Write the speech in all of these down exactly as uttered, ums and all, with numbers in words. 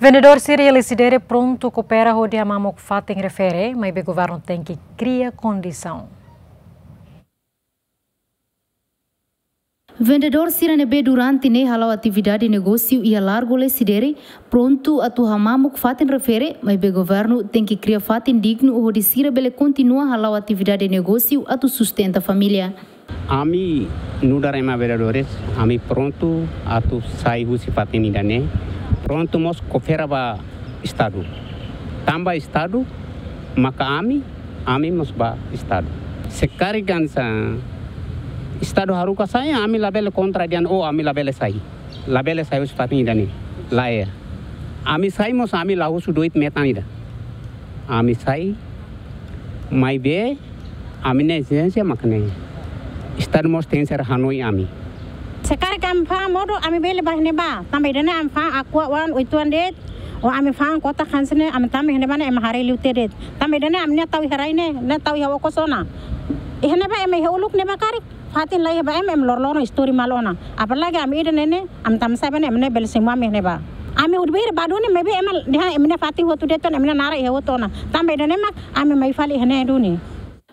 Vendedór sira iha Lecidere prontu koopera hodi hamamuk fatin refere, maibé governu tenke kria kondisaun. Vendedór sira ne'ebé durante ne'e hala'o atividade negósiu iha Largo Lecidere prontu atu hamamuk fatin refere, maibé governu tenke kria fatin dignu hodi sira bele kontinua hala'o atividade negósiu atu sustenta família. Ami nu'udar ema vendedores, ami prontu atu sai husi fatin ida-ne'e, prontu mós koopera ba Estadu. Tanba Estadu maka ami, ami mós ba Estadu. Se karik hanesan Estadu haruka sai, ami labele kontra dehan, oh, ami labele sai. Labele sai husi fatin ida-ne'e. Lae. Ami sai mós ami la husu doit metan ida. Ami sai, maibé ami-nia ezijénsia mak ne'e. Estadu mós tenke ser hanoin ami. Se karik ami fa'an modo, ami bele ba iha ne'ebá. Tanba ida-ne'e ami fa'an akua wan oituan de'it, ou ami fa'an kota hanesan ne'e, ami tama iha ne'ebá ne'e ema haree liu tiha de'it. Tanba ida-ne'e ami-nia tau iha rai ne'e, ne'e tau iha okos ona. Iha ne'ebá ema iha uluk ne'ebá karik fatin la iha ba ema, ema loroloron istori malu ona. Apalagi ami ida-ne'e ne'e, ami tama sai ba ne'e, ema ne'e bele simu ami iha ne'ebá. Ami hodi ba hira ba duni, maibé ema dehan ema-nia fatin hotu de'it ona, ema-nia naran iha hotu ona. Tanba ida-ne'e mak ami mai fali iha ne'e duni.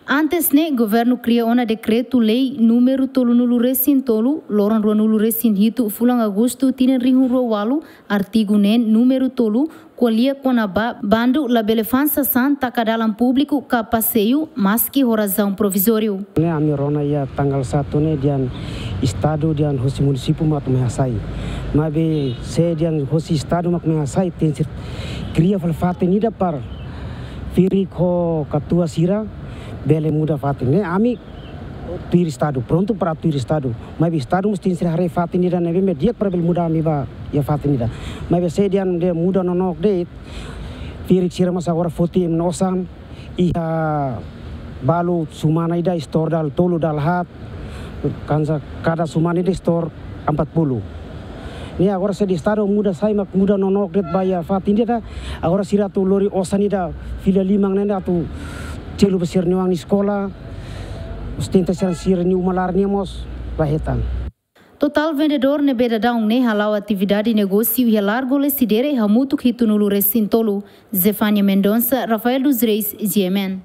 Antes ne'e, governu kria ona dekretu-lei númeru tolunulu-resin-tolu, loron ruanulu-resin-hitu, fulan Agostu, tinan rihun rua ualu, artigu neen, númeru tolu, ko'alia kona-ba bandu labele fa'an sasán taka dalan públiku ka paseiu, maski ho razaun provizóriu. Ne'e ami rona iha tanggal satu ne'e dehan Estadu dehan hosi munisípiu mak mai hasai. Maibé se dehan hosi Estadu mak mai hasai, tenke kria fali fatin ida para ferik ho katuas sira bele muda fatin. Ne'e ami tuir Estadu, prontu para tuir Estadu. Maibé Estadu mós tenke haree fatin ida ne'ebé mak di'ak para bele muda ami ba iha fatin ida. Maibé se dehan dehan muda nonook de'it, ferik sira mós agora foti ema nia osan, iha balu semana ida store dala tolu dala haat, hanesan kada semana ida store empat puluh. Ne'e agora se dehan Estadu muda sai mak muda nonook de'it ba iha fatin ida, agora sira atu lori osan ida fila lima ne'e atu selu ba sira-nia oan eskola, sustenta sira, sira-nia uma laran nian mós la hetan. Totál vendedór ne'ebé daudaun ne'e hala'o atividade negósiu iha Largo Lecidere hamutuk hitunulu-resin-tolu. Zefania Mendonça, Rafael dos Reis, G M N.